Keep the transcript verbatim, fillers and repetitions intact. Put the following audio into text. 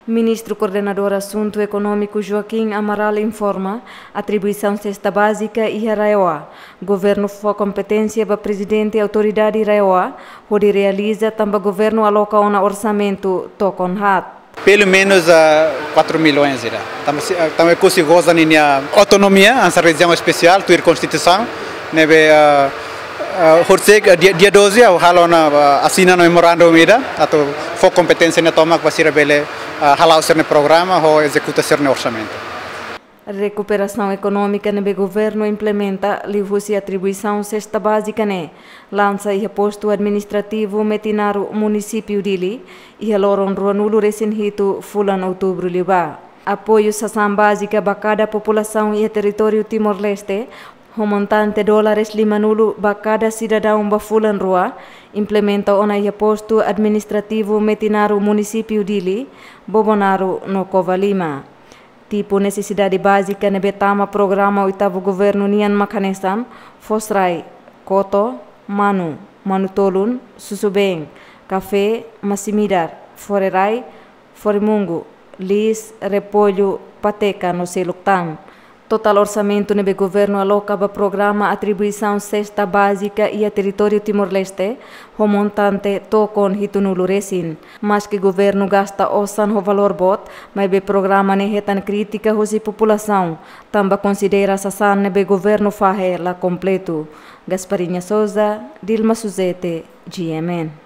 Ministru Koordenadór Asuntu Ekonómiku Joaquim Amaral informa, atribuisaun sesta bázika iha RAEOA. Governu fó kompeténsia ba Prezidente Autoridade RAEOA hodi realiza tanba governu aloka ona orsamentu tokon haat. Pelo menos a quatro milhões ira. Tanba si-, ah, tanba Oekusi goza ninia autonomia, hanesan rejiaun espesiál, tuir Konstituisaun, ne'ebé, ah, ah, horisehik, ah, dia, dia doze, ha'u halo ona, ah, asina ona memorandum ida, atu fó kompeténsia ne'e tomak ba sira bele, ah, hala'o sira-nia programa, ho ezekuta sira-nia orsamentu. Rekuperasaun ekonómika ne'ebé governu implementa liuhusi atribuisaun sesta bázika ne'e, lansa iha postu administrativu Metinaro, munisípiu Dili, iha loron ruanulu resin hitu fulan Outubru liubá. Apoiu sasán bázika ba kada populasaun iha territóriu Timor-Leste, ho montante dólares limanulu ba kada sidadaun ba fulan rua, implementa ona iha postu administrativu Metinaro, munisípiu Dili, Bobonaro no Covalima. Tipu nesesidade bázika ne'ebé tama programa oitavu governu nian mak hanesan fosrai, koto, manu, manu-tolun, susubeen, kafé, masin-midar, fore-rai, fore-mungu, liis, repollu, pateka no seluk tan. Totál orsamentu ne'ebé governu aloka ba programa atribuisaun sesta bázika iha territóriu Timor-Leste, ho montante tokon hitunulu resin. Maske governu gasta osan ho valór boot, maibé programa ne'e hetan krítika husi populasaun, tanba konsidera sasán ne'ebé governu fahe la kompletu. Gasparinha Souza, Dilma Suzete, G M N.